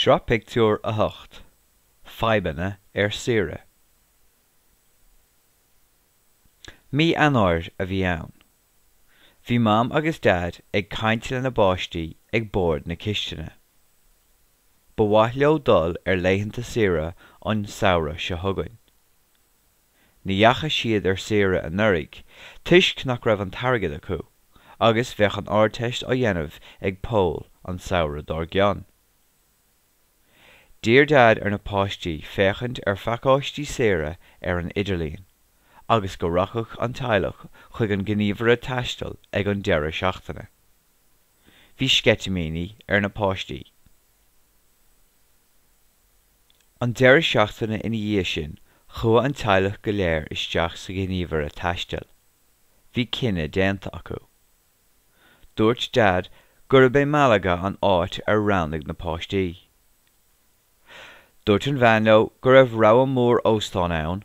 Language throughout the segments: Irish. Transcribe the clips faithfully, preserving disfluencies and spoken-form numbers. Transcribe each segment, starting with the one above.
Sraith Pictiúr a hocht. Fadhbanna ar Saoire. Mí Eanáir a bhí ann. Bhí Mam agus Daid ag caint lena bpáistí ag bord na cistine. Ba mhaith leo dul ar laethanta saoire an samhradh seo chugainn. Ní dheachaigh siad ar saoire anuraidh toisc nach raibh an t-airgead acu, agus bheadh an Ardteist á dhéanamh ag Pól an samhradh dár gcionn. D'iarr Daid ar na páistí féachaint ar phacáistí saoire ar an idirlíon, agus go rachadh an teaghlach chuig an ngníomhaire taistil ag an deireadh seachtaine. Bhí sceitimíní ar na páistí. An deireadh seachtaine ina dhiaidh sin, chuaigh an teaghlach go léir isteach sa ghníomhaire taistil. Bhí cinneadh déanta acu. Dúirt Daid gurb é Malaga an áit ar roghnaigh na páistí. Dúirt an bhean leo go raibh rogha mór óstán ann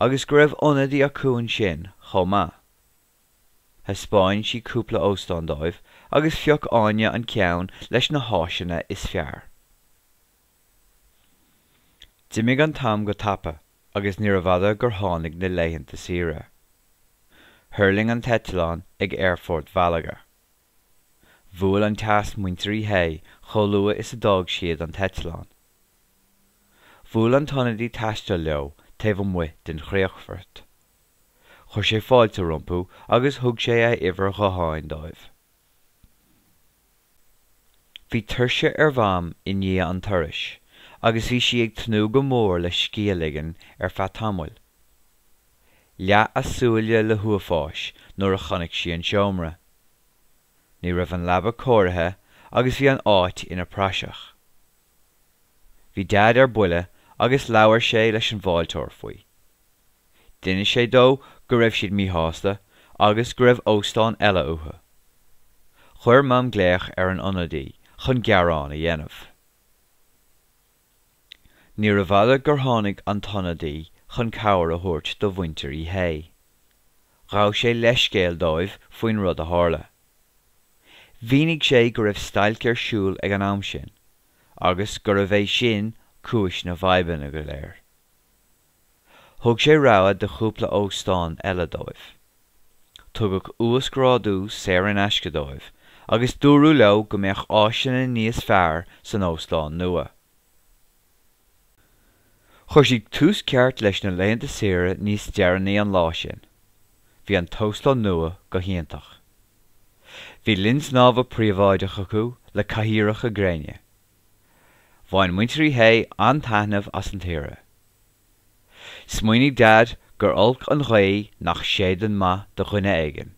agus go raibh ionadaí acu ansin chomh maith. Thaispeáin sí cúpla óstán dóibh agus phioc Áine an ceann leis na háiseanna is fearr. D'imigh an t-am go tapa agus níorbh fhada gur tháinig na laethanta saoire. Thuirling an t-eitleán ag Aerfort Mhalaga. Bhuail an teas muintir Uí Shé chomh luath is a d'fhág siad an t-eitleán. Bhuail an t-ionadaí taistil leo taobh amuigh den chríochfort. Chuir sé fáilte rompu agus thug sé a uimhir ghutháin dóibh. Bhí tuirse ar Mham i ndiaidh an turais agus bhí sí ag tnúth go mór le scíth a ligean ar feadh tamaill. Leath a súile le huafáis nuair a chonaic sí an seomra. Ní raibh an leaba cóirithe agus bhí an áit ina praiseach. Bhí Daid ar buile agus labhair sé leis an bhfáilteoir faoi. D'inis sé dó go raibh siad míshásta agus go raibh óstán eile uathu. Chuir Mam glaoch ar an ionadaí chun gearán a dhéanamh. Níorbh fhada gur tháinig an t-ionadaí chun cabhair a thabhairt do mhuintir Uí Shé. Ghabh sé leithscéal dóibh faoin rud a tharla. Mhínigh sé go raibh stailc ar siúl ag an am sin, agus gurbh é sin cúis na bhfadhbanna go léir. Thug sé rogha de chúpla óstán eile dóibh. Tugadh uasghrádú saor in aisce dóibh agus dúradh leo go mbeadh áiseanna níos fearr san óstán nua. Chuir siad tús ceart leis na laethanta saoire níos deireanaí an lá sin. Bhí an t-óstán nua go hiontach. Bhí linn snámha príobháideach acu le cathaoireacha gréine. Bhain muintir Uí Shé an-taitneamh as an tsaoire. Smaoinigh Daid gur olc an ghaoth nach séideann maith do dhuine éigin.